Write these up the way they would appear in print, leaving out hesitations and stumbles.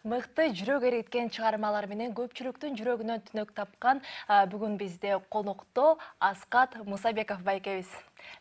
Мыкты жүрөк эриткен чыгармалар менен көпчүлүктүн жүрөгүнөн түнөк тапкан бүгүн бизде конокто Аскат Мусабеков байкебиз.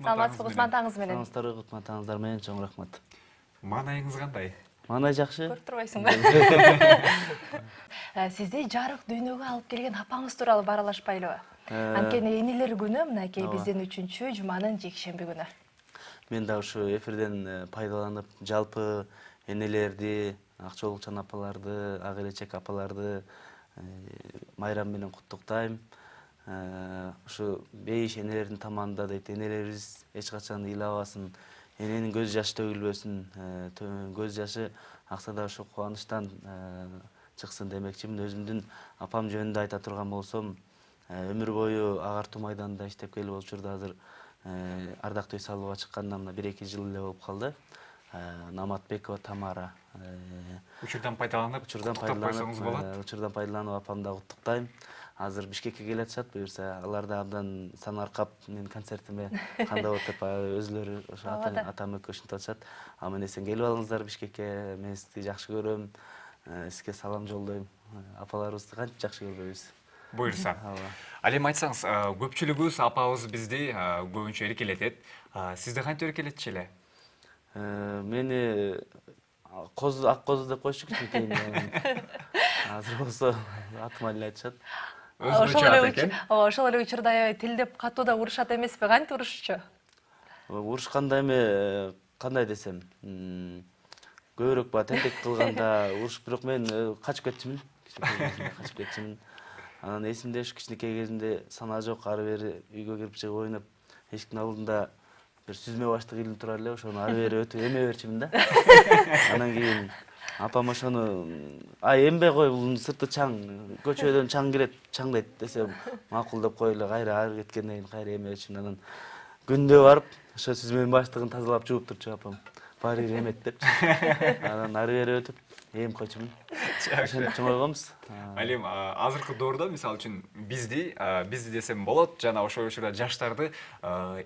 Саламатсызбы, кутман-таңыз менен. Саламатсыздарбы, кутман-таңыздар менен, чоң рахмат. Маанайыңыз кандай? Маанай жакшы. Көрүп турбайсыңбы? Сизди жарык дүйнөгө алып келген апаңыз тууралуу баралашпайлыбы? Анткени энелер күнү мынакей биздин 3-жуманын жекшемби күнү. Мен да ушу эфирден пайдаланып, жалпы энелерди, акчолукчан апаларды, ак элечек апаларды майрам менен куттуктайм. Ушу бейиш энелердин таманында дейт, энелерибиз эч качан ыйлабасын, эненин көз жашы төгүлбөсүн, көз жашы акса да ушу кубанычтан чыксын демекчимин. Өзүмдүн апам жөнүндө айта турган болсом, өмүр бою агартуу майданында иштеп келип учурда азыр ардактуу үй салууга чыкканына мына 1-2 жыл эле болуп калды. Наматбекова Тамара. Учурдан пайдаланып апамды куттуктайм. Азыр Бишкекке келатышат, буюрса алар да абдан санаркап менин концертиме кандай болот деп өзүлөрү ошо атам экөө ушинтип атышат. Аман эсен келип алыңыздар Бишкекке, мен сизди жакшы көрөм, сизге салам жолдойм. Апаларыбызды кантип жакшы көрбөйбүз. Буюрса. Ал эми айтсаңыз, көпчүлүгүбүз апабыз бизди көбүнчө эркелетет. Сизди кантип эркелетчү эле? Мени ак козу деп койчу кичинекейинен. Азыр болсо атыма эле айтышат. Ошол эле учурда аябай тилдеп катууда урушат эмеспи? Кантип урушчу? Урушканда эми кандай десем, көбүрөөк баягы тентек кылганда урушуп, бирок мен качып кетчүмүн. Анан эсимде ушу кичинекей кезимде санаа жок, ары бери үйгө кирип чыгып ойноп, эшиктин алдында бир сүзмө баштык илинип тура эле, ошону ары бери өтүп эме берчүмүн да. Анан кийин апам ошону эмбей кой, бул сырты чаң, көчөдөн чаң кирет, чаңдайт десем, макул деп коюп эле кайра ары кеткенден кийин кайра эме берчүмүн. Анан күндө барып, ошо сүзмөнүн баштыгын тазалап жууп турчу апам. Баары бир эмет депчи. Анан ары бери өтүп эм койчумун. Ошентип чоңойгонбуз. Ал эми азыркы доордо мисалы үчүн бизди десем болот, жана ошол учурда жаштарды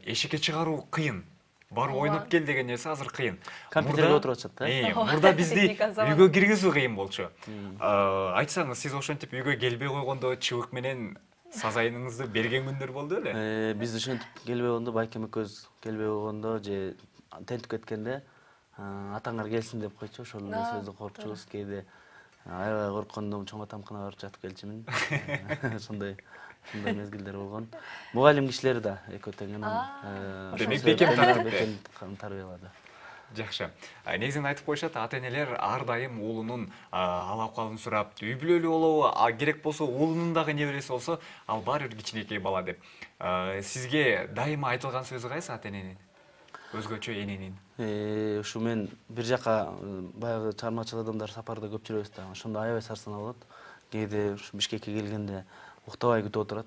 эшикке чыгаруу кыйын. Барып ойноп кел деген нерсе азыр кыйын. Компьютерге отуруп атышат да. Мурда бизди үйгө киргизүү кыйын болчу. Айтсаңыз, сиз ошентип үйгө келбей койгондо чыбык менен сазайыңызды берген күндөр болду беле? Биз ошентип келбей койгондо, байкем экөөбүз келбей койгондо же тентип кеткенде атаңар келсин деп койчу, ошол эле сөздү коркчубуз. Кээде аябай корккондо чоң атамкына барып жатып келчүмүн. Ошондой мезгилдер болгон. Мугалим кишилери да экөө тең. Демек бекем тарбиялады. Жакшы. Негизинен айтып коюшат, ата-энелер ар дайым уулунун ал-акыбалын сурап, үй бүлөлүү болобу, керек болсо уулунун дагы небереси болсо, ал баары бир кичинекей бала деп. Сизге дайыма айтылган сөзү кайсы ата-эненин? Өзгөчө эненин? Ушу мен бир жака баягы чармачыл адамдар сапарда көп жүрөбүз да. Ошондо аябай сарсанаа болот. Кээде ушу Бишкекке келгенде уктабай күтүп отурат.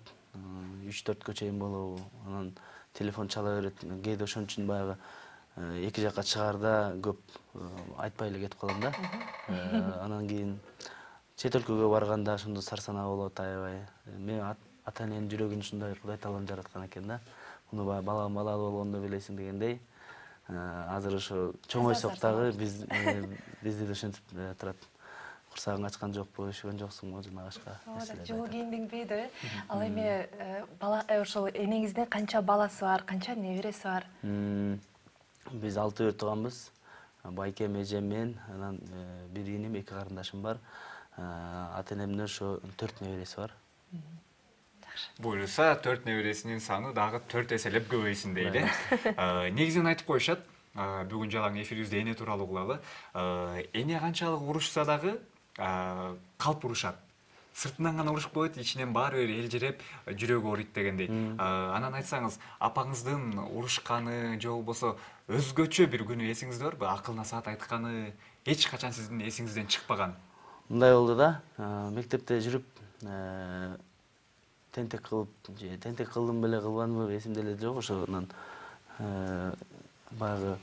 3-4 чейин болобу. Анан телефон чала берет. Кээде ошон үчүн баягы эки жака чыгаарда көп айтпай эле кетип калам да. Анан кийин чет өлкөгө барганда ошондо сарсанаа болот аябай. Мен ата-эненин жүрөгүн ушундай Кудай таалам жараткан экен да. Муну балам балалуу болгондо билесиң дегендей. Азыр ошо чоңойсок дагы бизди да ошентип турат. Курсагың ачкан жокпу, üşөгөн жоксуңбу, жана башка нерселер. Жылуу кийиндиңби деп. Ал эми ошол энеңиздин канча баласы бар, канча небереси бар? Биз 6 бир тууганбыз. Байкем, эжем, мен, анан бир иним, 2 карындашым бар. Ата-энемдин ошо 4 небереси бар. Буюрса, 4 небересинин саны дагы 4 эселеп көбөйсүн дейли. Негизинен айтып коюшат, бүгүн жалаң эфирибизде эне тууралуу кылалы. Эне канчалык урушса дагы калп урушат. Сыртынан гана урушуп коет, ичинен баары бир элжиреп, жүрөгү ооруйт дегендей. Анан айтсаңыз, апаңыздын урушканы же болбосо өзгөчө бир күнү эсиңизде барбы? Акыл насаат айтканы эч качан сиздин эсиңизден чыкпаган? Мындай болду да. Мектепте жүрүп тентек кылып, тентек кылдым беле, кылбадымбы эсимде эле жок. Ошонан баягы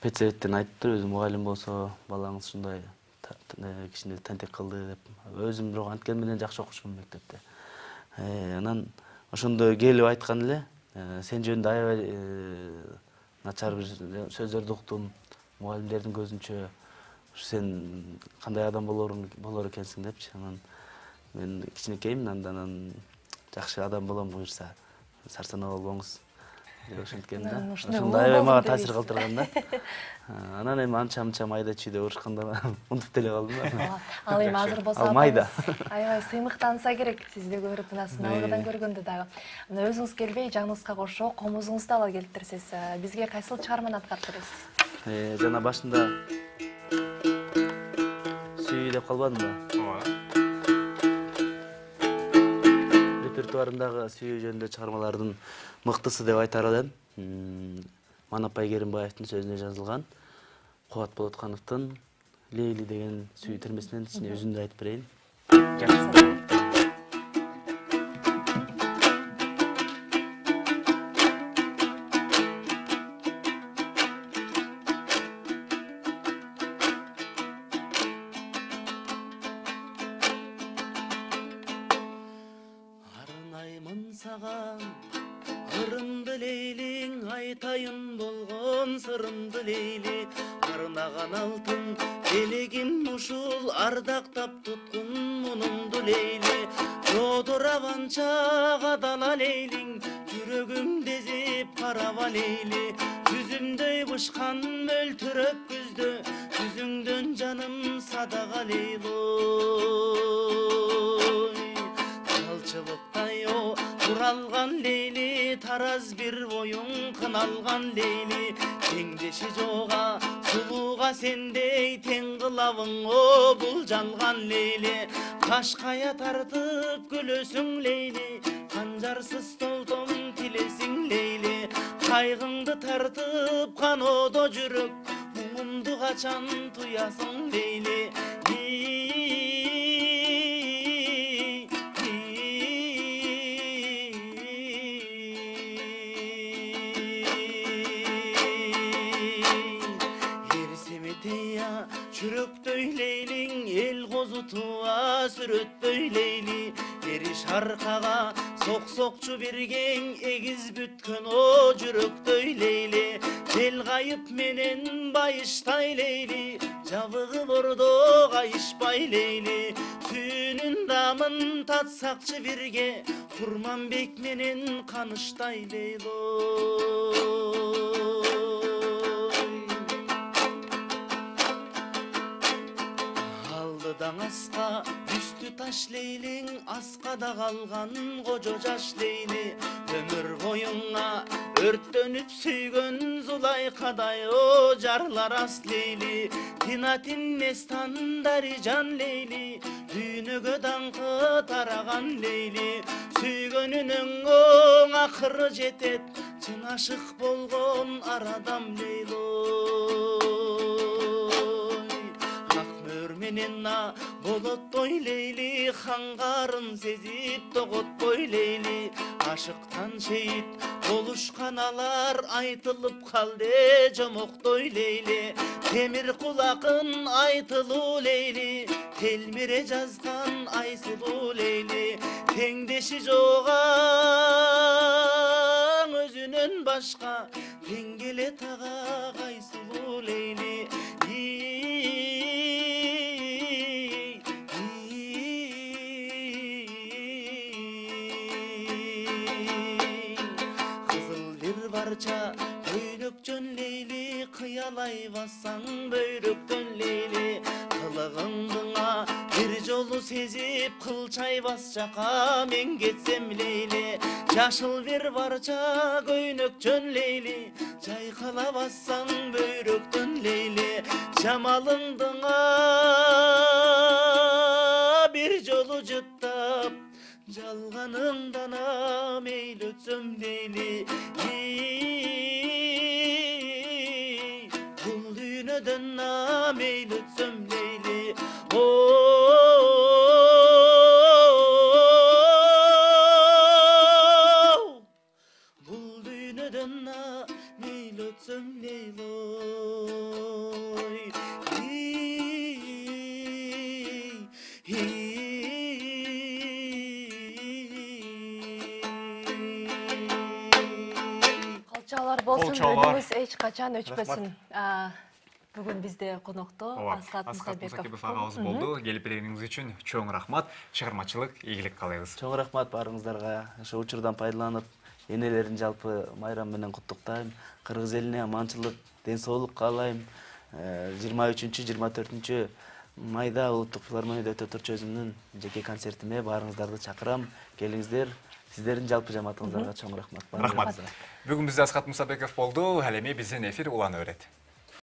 педсоветтен айтыптыр, өзү мугалим болсо, балаңыз ушундай кичине тентек кылды деп. Өзүм бирок анткени менен жакшы окушумун мектепте. Анан ошондо келип айткан эле, сен жөнүндө аябай начар бир сөздөрдү уктум, мугалимдердин көзүнчө сен кандай адам болор экенсиң депчи. Анан мен кичинекеймин, андан жакшы адам болом буюрса, сарсанаа болбоңуз деп ошенткен да. Ошондой аябай мага таасир калтырган да. Анан эми анча майда чүйдө урушканда унутуп деле калдым да. Ал эми азыр болсо майда. Аябай сыймыктанса керек, сизди көрүп, мына сыналгыдан көргөндө дагы. Мына өзүңүз келбей, жаныңызга кошо комузуңузду ала келиптирсиз. Бизге кайсыл чыгарманы аткарып бересиз? Жана башында сүй деп калбадым да. Репертуарымдагы сүйүү жөнүндө чыгармалардын мыктысы деп айтар элем. Манапай Керимбаевдин сөзүнө жазылган, Кубат Болоткановдун Лейли деген сүйүү термесинен ичине өзүндү айтып берейин. Арнаймын саган ырымды Лейлиң, айтайын болгон сырымды Лейли. Арнаган алтын элегим ушул, ардактап туткун мунумду Лейли. Жодураванча кадала Лейлиң, жүрөгүм дезип караба Лейли. Жүзүмдөй бышкан мөлтүрөп күздө, жүзүңдөн жаным садага Лейлой. Талчылыктай туралган Лейли, тараз бир боюң кыналган Лейли. Теңдеши жога сулууга сендей тең кылабың о бул жалган Лейли. Кашкая тартып күлөсүң Лейли, канжарсыз толтом тилесиң Лейли. Кайгыңды тартып каноодо жүрөк, муңумду качан туясың Лейли. Жүрөктөй Лейлиң, эл козутуа сүрөттөй Лейли. Бериш аркага сок-сокчу биргең, эгиз бүткөн о жүрөктөй Лейли. Жел кайып менен байыштай Лейли, жабыгы бордо кайышпай Лейли. Сүйүүнүн дамын татсакчы бирге, Курманбек менен каныштай Лейлой. Даңаска үстү таш Лейлиң, аскада калган кожо жаш Лейли. Өмүр боюңа өрттөнүп сүйгөн Зулайкадай о жарлар ас Лейли. Тинатин Нестандари жан Лейли, дүйнөгө даңкы тараган Лейли. Сүйгөнүнүн оң акыры жетет, чын ашык болгон арадам Лейлой. Менена болоттой Лейли, хангарын сезип тоготпой Лейли. Ашыктан шейит болушкан алар, айтылып калды жомоктой Лейли. Темир кулакын айтылуу Лейли, телмире жазган айсылуу Лейли. Теңдеши жога өзүнөн башка, тең келе тага кайсылуу Лейли. Көйнөкчөн Лейли, кыялай бассаң бөйрөктөн Лейли. Кылыгыңдыңа бир жолу сезип, кылчай бас жака мен кетсем Лейли. Жашыл бир барча көйнөкчөн Лейли, жайкала бассаң бөйрөктөн Лейли. Жамалыңдыңа бир жолу жыттап, жалганыңдана мейлі өтсөм Лейли. Бұл дүйнөдөн мейлі өтсөм Лейли. Бұл дүйнөдөн мейлі өтсөм Лейлой. Калчалар болсун, өнүңүз эч качан өчпөсүн. Бүгүн бизде конокто Аскат Мусабеков агабыз болду. Келип бергениңиз үчүн чоң рахмат. Чыгармачылык ийгилик каалайбыз. Чоң рахмат баарыңыздарга. Ошо учурдан пайдаланып, энелерин жалпы майрам менен куттуктайм. Кыргыз элине аманчылык, ден соолук каалайм. 23-24 майда улуттук филармонияда өтө турчу өзүмдүн жеке концертиме баарыңыздарды чакырам. Келиңиздер. Сиздердин жалпы жамаатыңыздарга чоң рахмат. Рахмат. Бүгүн бизде Аскат Мусабеков болду. Ал эми биздин эфир улана берет.